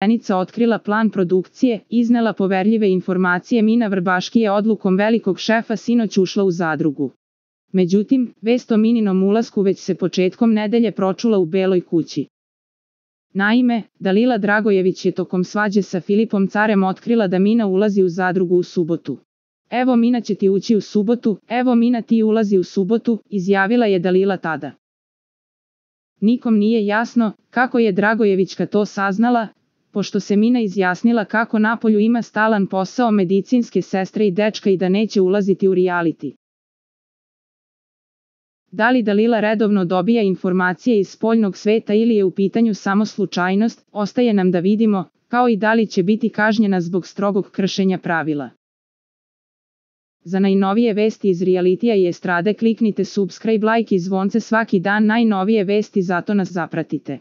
Poverenica otkrila plan produkcije, iznela poverljive informacije. Mina Vrbaški je odlukom velikog šefa sinoć ušla u zadrugu. Međutim, vest o Mininom ulasku već se početkom nedelje pročula u Beloj kući. Naime, Dalila Dragojević je tokom svađe sa Filipom Carem otkrila da Mina ulazi u zadrugu u subotu. "Evo Mina će ti ući u subotu, evo Mina ti ulazi u subotu", izjavila je Dalila tada. Nikom nije jasno kako je Dragojevićka to saznala, pošto se Mina izjasnila kako napolju ima stalan posao medicinske sestre i dečka i da neće ulaziti u reality. Da li Dalila redovno dobija informacije iz spoljnog sveta ili je u pitanju samo slučajnost, ostaje nam da vidimo, kao i da li će biti kažnjena zbog strogog kršenja pravila. Za najnovije vesti iz realitija i estrade kliknite subscribe, like i zvonce svaki dan. Najnovije vesti, zato nas zapratite.